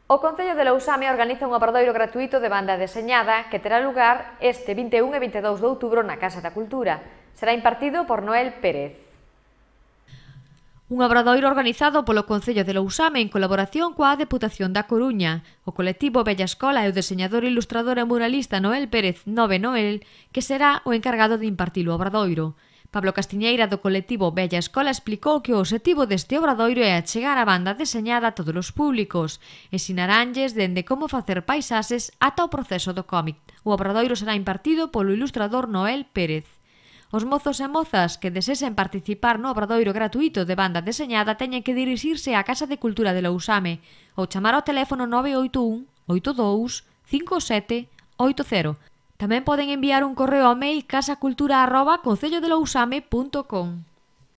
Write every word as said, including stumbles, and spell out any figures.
O Concello de Lousame organiza un obradoiro gratuito de banda deseñada que terá lugar este vinte e un e vinte e dous de outubro na Casa da Cultura. Será impartido por Noel Pérez. Un obradoiro organizado polo Concello de Lousame en colaboración coa Deputación da Coruña, o colectivo Bella Escola e o deseñador, ilustrador e muralista Noel Pérez Nove Noel, que será o encargado de impartir o obradoiro. Pablo Castiñeira, do colectivo Bella Escola, explicou que o obxectivo deste obradoiro é achegar a banda deseñada a todos os públicos, ensinaranlles dende como facer paisaxes ata o proceso do cómic. O obradoiro será impartido polo ilustrador Noel Pérez. Os mozos e mozas que desesen participar no obradoiro gratuito de banda deseñada teñen que dirixirse á Casa de Cultura de Lousame ou chamar ao teléfono nove oito un, oito dous, cinco sete, oito cero. Tamén poden enviar un correo ao mail casacultura arroba concellodelousame punto com.